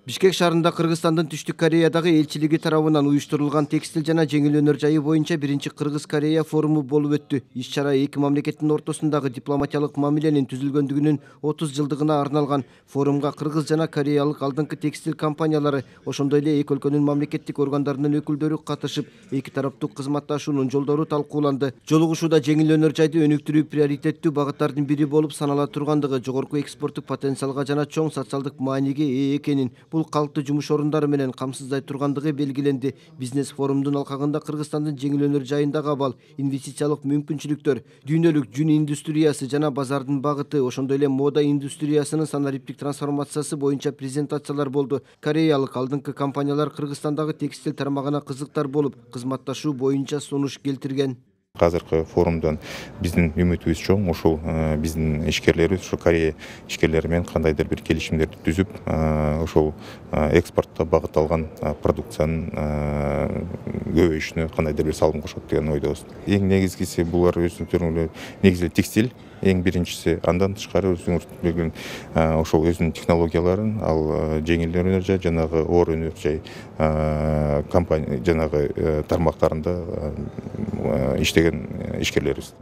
Бишкек шаарында Кыргызстандын Түштүк Кореядагы элчилиги тарабынан уюштурулган текстил жана жеңил өнөр жайы боюнча биринчи Кыргыз-Корея форуму болуп өттү. Иш-чара эки мамлекеттин ортосундагы дипломатиялык мамиленин түзүлгөндүгүнүн 30 жылдыгына арналган. Форумга кыргыз жана кореялык алдыңкы текстил компаниялары, ошондой эле эки өлкөнүн мамлекеттик органдарынын өкүлдөрү катышып, эки тараптуу кызматташуунун жолдору талкууланды. Жолугушууда жеңил өнөр жайды өнүктүрүү приоритеттүү багыттардын бири болуп санала тургандыгы, жогорку экспорттук потенциалга жана чоң социалдык мааниге ээ экенин, бул калктуу жумуш орундары менен камсыздай тургандыгы белгиленди. Бизнес форумдун алкагында Кыргызстандын жеңил өнөр жайындагы абал, инвестициялык мүмкүнчүлүктөр, дүйнөлүк жүн индустриясы жана базардын багыты, ошондой эле мода индустриясынын санариптик трансформациясы боюнча презентациялар болду. Кореялык алдыңкы компаниялар Кыргызстандагы текстил тармагына кызыктар болуп, кызматташуу боюнча сунуш келтирген. Азыркы форумдан биздин үмүтүбүз чоң. Ушул биздин ишкерлерибиз ушу Корея ишкерлери менен кандайдыр бир келишимдерди түзүп, ошол экспортко багытталган продукциянын көбөйүшүнө кандайдыр бир салым кошот деген ойдобуз. Эң негизгиси булар өзүнүн негизи текстиль, эң биринчиси. Андан тышкары өзүңүз билген ошол өзүнүн технологияларын, ал жеңил өнөр жай, жанагы оор өнөр жай компания жанагы тармактарында иштеген ишкерлерибиз.